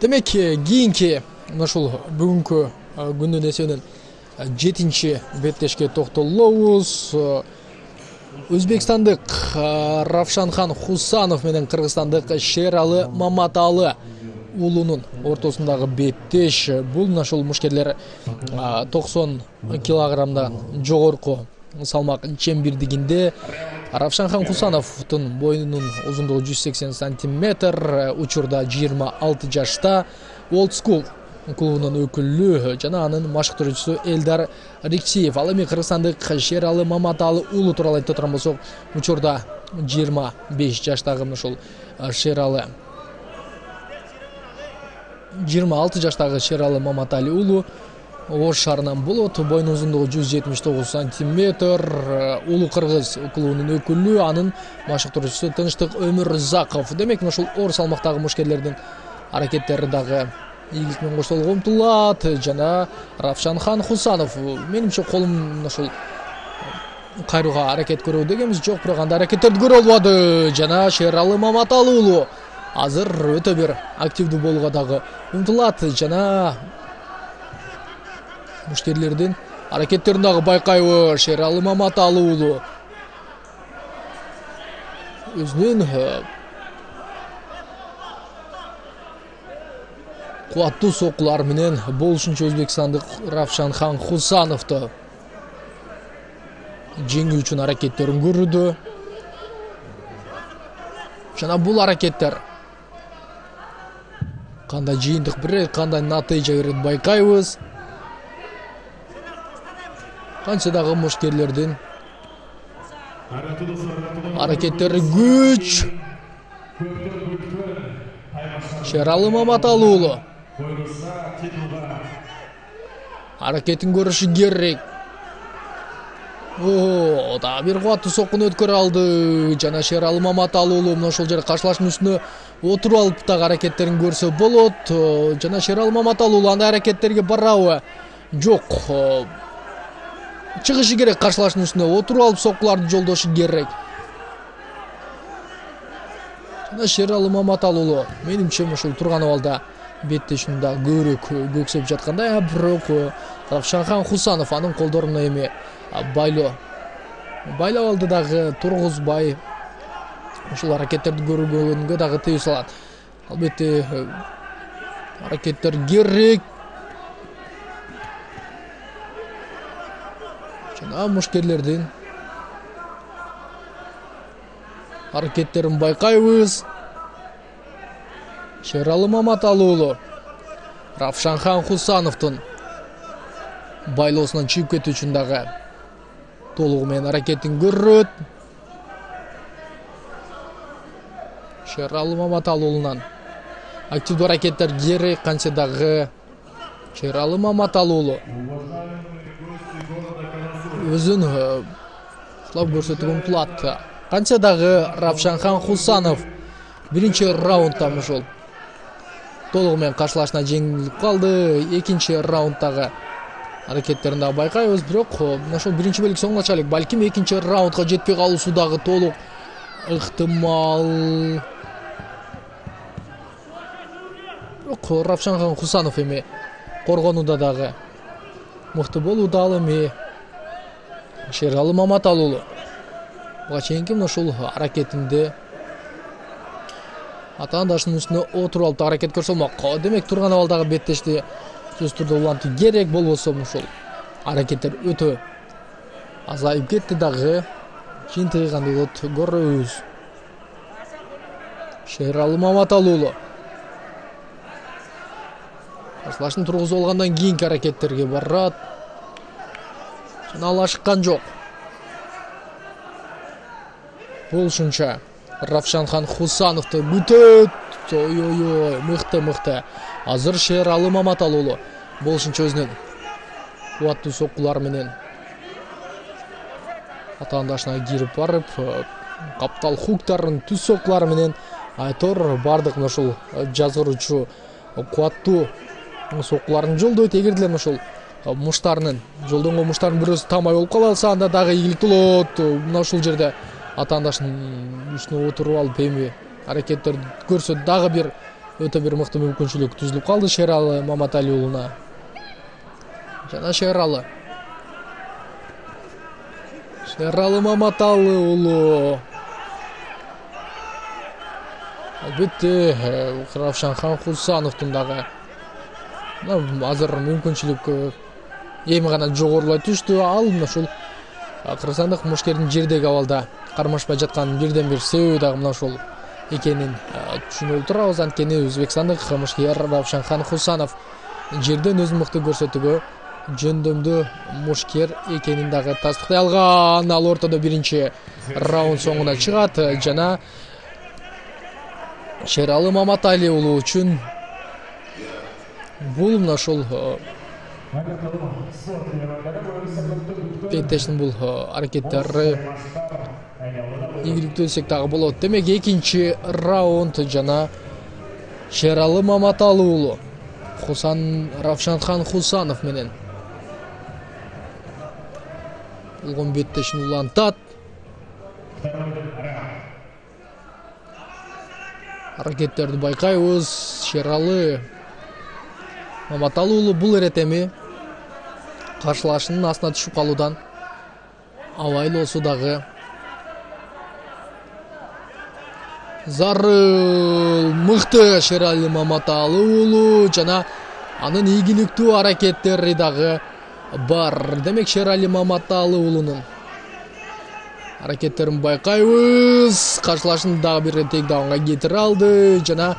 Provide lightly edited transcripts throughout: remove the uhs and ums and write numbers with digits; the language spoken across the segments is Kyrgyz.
Демек, кийинки мына ушул бүгүнкү күндүн эсебинен 7-чи беттешке токтолобуз. Өзбекстандык Равшанхан Хусанов менен кыргызстандык Шералы Маматалы уулунун ортосундагы беттеш. Бул мына ушул мушкерлер 90 килограммдан жогорку салмак чем бирдигинде. Равшанхан Хусановдун боюнун узундугу 180 сантиметр, учурда 26 жашта. Old School клубунун өкүлү жана анын машыктыруучусу Элдар Рикчиев. Ал эми кыргызстандык Шералы Маматалы уулу тууралуу айтып турган болсок, учурда 25 жаштагы ушул Шералы 26 жаштагы Шералы Маматалы уулу Ош шаарынан болот. Боюнун узундугу 179 сантиметр. Улуу кыргыз клубунун өкүлү, анын машыктыруучусу Тынчтык Өмүрзаков. Демек, ушул оор салмактагы мушкерлердин аракеттери дагы ийгилик менен коштолууга умтулат. Жана Равшанхан Хусанов, менимче колум ушул кайрууга аракет көрөбү дегенбиз, жок, бирок андай аракеттерди көрө албады. Жана Шералы Маматалы уулу азыр өтө бир активдүү болууга дагы умтулат. Жана мушкерлердин аракеттерин дагы байкайбыз. Шералы Маматалы уулу өзүнүн кубаттуу соккулары менен болушунча өзбекстандык Равшанхан Хусановду жеңүү үчүн аракеттерин көрүүдө. Жана бул аракеттер кандай жыйынтык берет, кандай натыйжа берет байкайбыз. Канча дагы мушкерлердин аракеттери күч. Шералы Маматалы уулу аракетин көрүшү керек. Дагы бир кубаттуу соккуну өткөрө алды. Жана Шералы Маматалы уулу мына ошол жерде каршылаштын үстүнө отуруп алып дагы аракеттерин көрсө болот. Жана Шералы Маматалы уулу андай аракеттерге барабы? Жок. Чыгышы керек, каршылаштын үстүнө отуруп алып соккуларды жолдошу керек. Жана Шералы Маматалы уулу менимче ушул турган абалда беттешүүнү да көбүрөөк көксөп жаткандай, бирок Равшанхан Хусанов анын колдоруна эми байлап алды дагы, тургузбай ушул аракеттерди көргөнгө дагы тыюу салат. Албетте аракеттер керек. Жана мушкерлердин аракеттерин байкайбыз. Шералы Маматалы уулу Равшанхан Хусановдун байлоосунан чыгып кетүү үчүн дагы толугу менен аракетин көрөт. Шералы Маматалы уулунан активдүү аракеттер керек. Канча дагы Шералы Маматалы уулу өзүн кылап көрсөтүүгө умтулат. Канча дагы Равшанхан Хусанов биринчи раундда ушул толугу менен каршылашына жеңилип калды. Экинчи раунддагы аракеттерин дагы байкайбыз, бирок мына ошол биринчи бөлүк соңуначалык, балким экинчи раундга жетпей калуусу дагы толук ыктымал. Бирок Равшанхан Хусанов эми коргонууда дагы мыкты болууда. Ал эми Шералы Маматалы уулу буга чейинки мына ушул аракетинде атаандашынын үстүнө отуруп алып аракет көрсө болмок. Демек, турган абалдагы беттешти сөзсүз түрдө улантуу керек. Болбосо ушул аракеттер өтө азайып кетти дагы. Жыйынтыгы кандай болот көрөбүз. Шералы Маматалы уулу каршылашын тургузуп алгандан кийинки аракеттерге барат. Жана ал ашыккан жок. Болушунча Равшанхан Хусановду күтөт. Ой, мыкты. Азыр Шералы Маматалы уулу болушунча өзүнүн кубаттуу соккулары менен атаандашына кирип барып, каптал хуктарын түз соккулары менен айтор бардык ушул жазгыруучу кубаттуу соккуларын жолдойт. Эгер деле ушул муштарынын жолдонгон муштарынын бирөөсү тамай болуп калса, анда дагы ийгиликтүү болот. Мына ушул жерде атаандашынын үстүнө отуруп алып эми аракеттерди көрсө дагы бир өтө бир мыкты мүмкүнчүлүк түзүлүп калды Шералы Маматали уулуна. Жана Шералы Маматалы уулу. Албетте Равшанхан Хусановдун дагы азыр мүмкүнчүлүк эми гана жогорулай түштү. Ал мына ушул кыргызстандык мушкердин жердеги абалда кармашпай жатканын бирден бир себеби дагы мына ушул экенин түшүнүп турабыз. Анткени өзбекстандык мушкер Равшанхан Хусанов жерден өзүн мыкты көрсөтүүгө жөндөмдүү мушкер экенин дагы тастыктай алган. Ал ортодо биринчи раунд соңуна чыгат жана Шералы Маматали уулу үчүн бул мына ушул Беттештин бул аракеттери ийгиликтүү десек дагы болот. Демек экинчи раунд жана Шералы Маматалы уулу Равшанхан Хусанов менен болгон беттешин улантат. Аракеттерди байкайбыз. Шералы Маматалы уулу бул эретеми каршылашынын астына түшүп калуудан абайыл болсо дагы зарыл мыкты Шералы Маматалы уулу жана анын ийгиликтүү аракеттери дагы бар. Демек Шералы Маматалы уулунун аракеттерин байкайбыз. Каршылашын дагы бир тейкдаунга кетире алды жана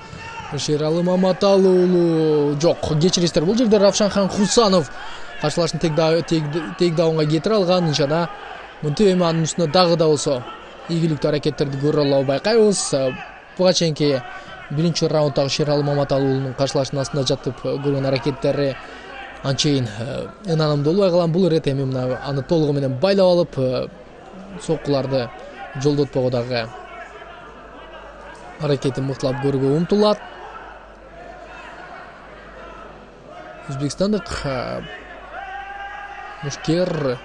Шералы Маматалы уулу жок, кечирисиздер, бул жерде Равшанхан Хусанов каршылашын тейкдаунга кетире алган жана мынтип эми анын үстүнө дагы да болсо ийгиликтүү аракеттерди көрө алуу байкайбыз. Буга чейинки биринчи раунддагы Шералы Маматалы уулунун каршылашынын астында жатып көргөн аракеттери анчейин ынанымдуу болбой калган. Бул эретеми мына аны толугу менен байлап алып соккуларды жолдотпого дагы аракетин мыктылап көрүүгө умтулат. Өзбекстандык мушкер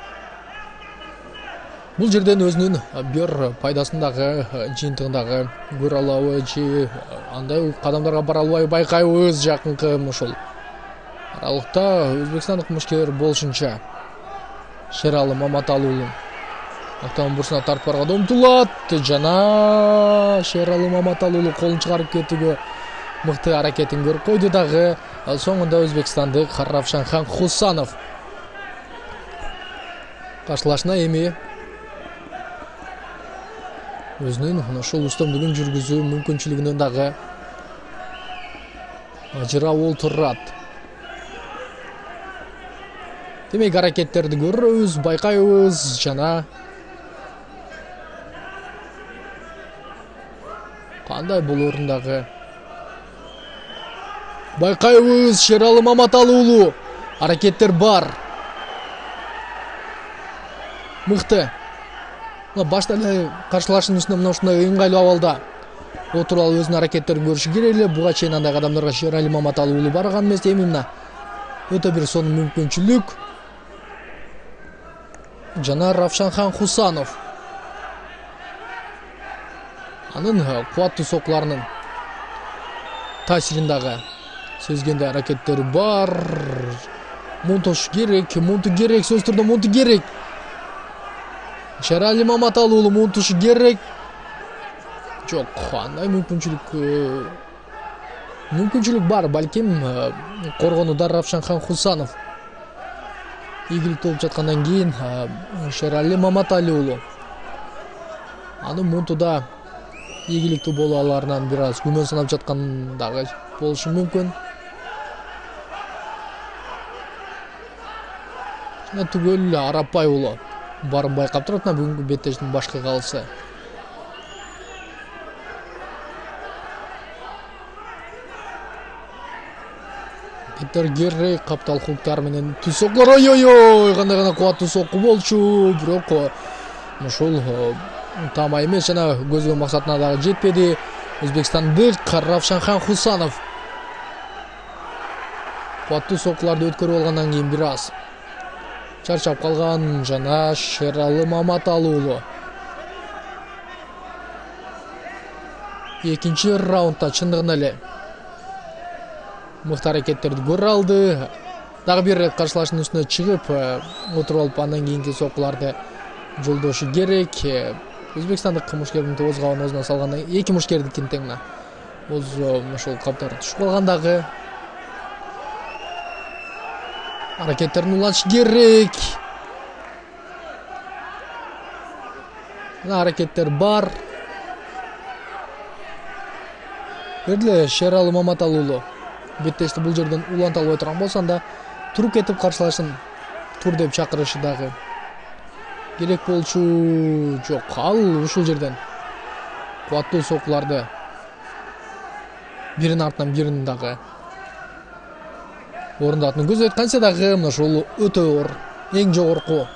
бул жерден өзүнүн бир пайдасын дагы жыйынтыгын дагы көрө алабы же андай кадамдарга бара албайбы байкайбыз. Жакынкы ушул аралыкта өзбекстандык мушкер болушунча Шералы Маматалы уулун автомобиль бурсуна тартып барганга умтулат жана Шералы Маматалы уулу колун чыгарып кетүүгө мыкты аракетин көрүп койду дагы. Соңунда өзбекстандык Равшанхан Хусанов каршылашына эми өзүнүн ушул үстөмдүгүн жүргүзүү мүмкүнчүлүгүнөн дагы ажырап олтурат. Демек аракеттерди көрөбүз, байкайбыз жана кандай болорун дагы байкайбыз. Шералы Маматалы уулу аракеттер бар. Мыкты. Башта эле каршылашынын үстүнө мына ушундай ыңгайлуу абалда отуруп алып өзүнүн аракеттерин көрүшү керек эле. Буга чейин андай кадамдарга Шералы Маматалы уулу барган эмес. Эми мына өтө бир сонун мүмкүнчүлүк. Жана Равшанхан Хусанов анын кубаттуу соккуларынын таасирин дагы сезгенде аракеттери бар. Мунтош керек, сөзсүз түрдө мунту керек. Шералы Маматалы уулу мунтушу керек. Жок, андай мүмкүнчүлүк бар. Балким коргонууда Равшанхан Хусанов ийгиликтүү болуп жаткандан кийин Шералы Маматалы уулу анын мунтуда ийгиликтүү боло аларынан бир аз күмөн санап жаткан дагы болушу мүмкүн. Жана түгөл Арапбай уулу барын байкап турат мына бүгүнкү беттештин башкы калысы. Питер Геррей каптал хуктар менен түз соккулар. Ой, кандай гана кубаттуу сокку болчу. Бирок ушул тама эмес жана көзгөн максатына дагы жетпеди. Өзбекстандык Равшанхан Хусанов кубаттуу соккуларды өткөрүп алгандан кийин бир аз чарчап калган жана Шералы Маматалы уулу экинчи раундда чындыгында эле мыкты аракеттерди көрө алды. Дагы бир ирет каршылаштын үстүнө чыгып отуруп алып андан кийинки соккуларды жолдошу керек. Өзбекстандык мушкердин тогуз кабан оозуна салгандан эки мушкердикин тең мына ошол каптары түшүп калгандагы аракеттерин улантыш керек. Мына аракеттер бар. Бердиле Шералы Маматалы уулу. Беттешти бул жерден уланта албай турган болсо анда туруп кетип каршылашын тур деп чакырышы дагы керек болчу. Жок, ал ушул жерден кубаттуу соккуларды биринин артынан бирин дагы орундатууну көздөйт. Кантсе дагы мына ушул өтө оор, эң жогорку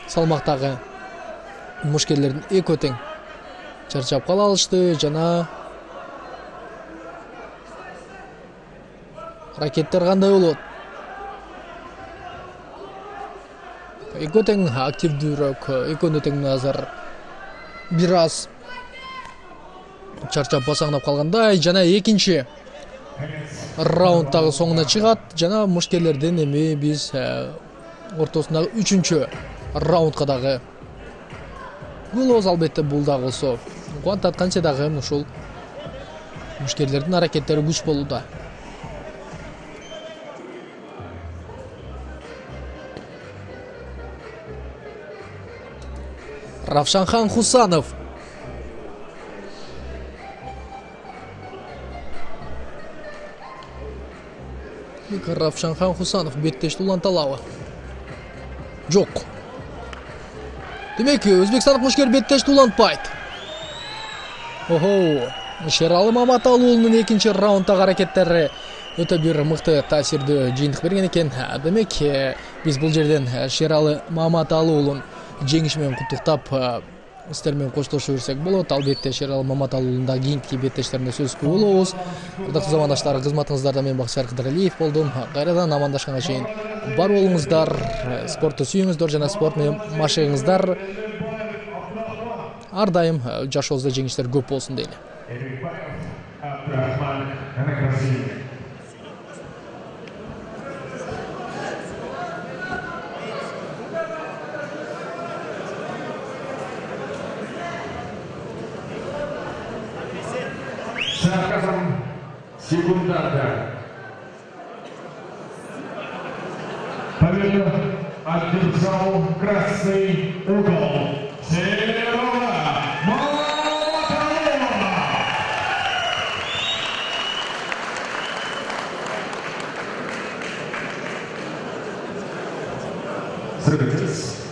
салмактагы мушкерлердин экөө тең чарчап кала алышты. Жана аракеттер кандай болот? Экөө тең активдүүрөөк, экөөнү тең азыр бир аз чарчап басаңдап калгандай. Жана экинчи раундтагы соңуна чыгат. Жана мушкерлерден эми биз ортосундагы үчүнчү раундка дагы болобуз. Албетте бул дагы болсо кубантат. Кантсе дагы ушул мушкерлердин аракеттери күч болууда. Равшанхан Хусанов. Равшанхан Хусанов беттешти уланта алабы? Жок. Демек, өзбекстандык мушкер беттешти улантпайт. Охо, Шералы Маматалы уулунун экинчи раундтагы аракеттери өтө бир мыкты таасирдүү жыйынтык берген экен. Демек, биз бул жерден Шералы Маматалы уулун жеңиши менен куттуктап сиздер менен коштошо берсек болот. Албетте Шералы Маматалы уулунун кийинки беттештеринде сөзгө болобуз. Кырдыктуу замандаштар, кызматыңыздарда мен Бакытжан Кыдыралиев болдум. Кайрадан амандашканга чейин бар болуңуздар, спортту сүйүңүздөр жана спорт менен машыгыңыздар. Ар дайым жашообузда жеңиштер көп болсун дейли. Шарказом секундарда. Победу одержал красный угол. Шералы Маматалы. Садитесь.